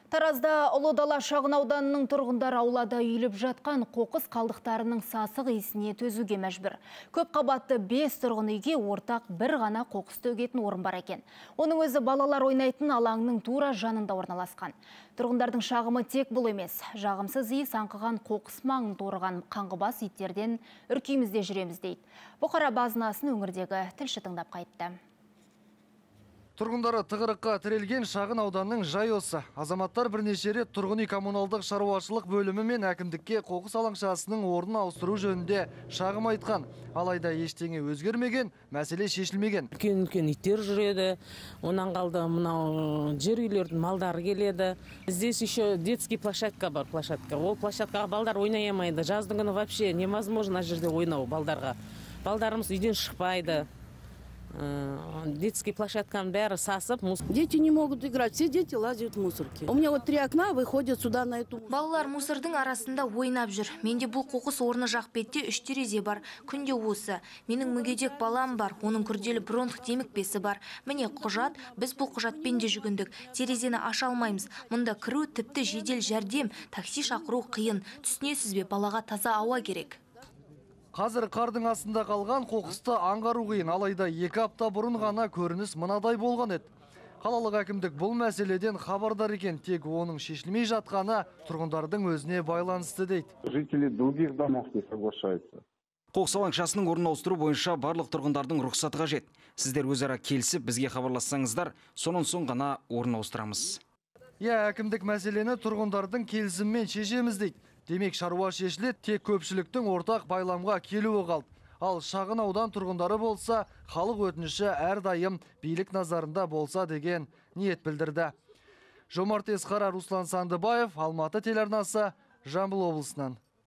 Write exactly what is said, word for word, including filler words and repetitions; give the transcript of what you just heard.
Таразда Ұлы Дала шағын ауданының тұрғындар аулада үйіліп жатқан қоқыс қалдықтарының сасық иісіне төзуге мәжбүр. Көп қабатты бес тұрғын үйге ортақ бір ғана қоқыс төгетін орын бар екен. Оның өзі балалар ойнайтын алаңның тура жанында орналасқан. Тұрғындардың шағымы тек бұл емес. Жағымсыз иіс аңқыған қоқыс маңын торыған қаңғыбас иттерден үркеймізде жүреміз дейді. Бұқара базынасын өңірдегі тілші тыңдап қайтты. Тұрғындары тығырыққа тірелген шағын ауданның жай осы. Азаматтар бірнеше рет тұрғын үй коммуналдық шаруашылық бөлімі мен әкімдікке қоқыс алаңшасының орнын ауыстыру жөнінде шағым айтқан. Алайда ештеңе өзгермеген, мәселе шешілмеген. Үлкен-үлкен иттер жүреді, онан қалды мынау жер үйлердің малдары келеді. Здесь еще детский площадка бар, площадка. Ол площадкаға балдар ойнай алмайды. Жаздың күні вообще невозможно жерде ойнау балдарға. Балдарымыз үйден шықпайды. Детский площадкам бәрі сасып. Дети не могут играть, все дети лазят в мусорки. У меня вот три окна выходят сюда на эту. Балалар мусордың арасында ойнап жүр. Менде бұл қоқыс орны жақ бетте үш терезе бар. Күнде осы. Менің мүгедек балам бар. Оның күрделі бронх демікпесі бар. Міне құжат, біз бұл құжатпен де жүгіндік. Терезені аша алмаймыз. Мұнда кіру тіпті жедел жәрдем, такси шақыру қиын. Түсінесіз бе, балаға таза ауа керек. Қазір қардың астында қалған қоқысты аңғару қиын, алайда екі апта бұрын ғана көрініс мынадай болған еді. Қалалық әкімдік бұл мәселеден хабардар екен, тек оның шешілмей жатқаны тұрғындардың өзіне байланысты дейді. Жители других домов не соглашаются. Қоқыс алаңшасының орнын ауыстыру бойынша барлық тұрғындардың рұқсаты қажет. Сіздер өзара келісіп бізге хабарлассаңыздар, сонан соң ғана орнын ауыстырамыз. Иә, әкімдік мәселені тұрғындардың келісіммен шешеміз дейді. Демек шаруа шешіледі, тек көпшіліктің ортақ байламға келуі қалды. Ал шағын аудан тұрғындары болса, халық өтініші әрдайым билік назарында болса деген ниет білдірді. Жомарт Есқара, Руслан Сандыбаев, Алматы телеарнасы, Жамбыл облысынан.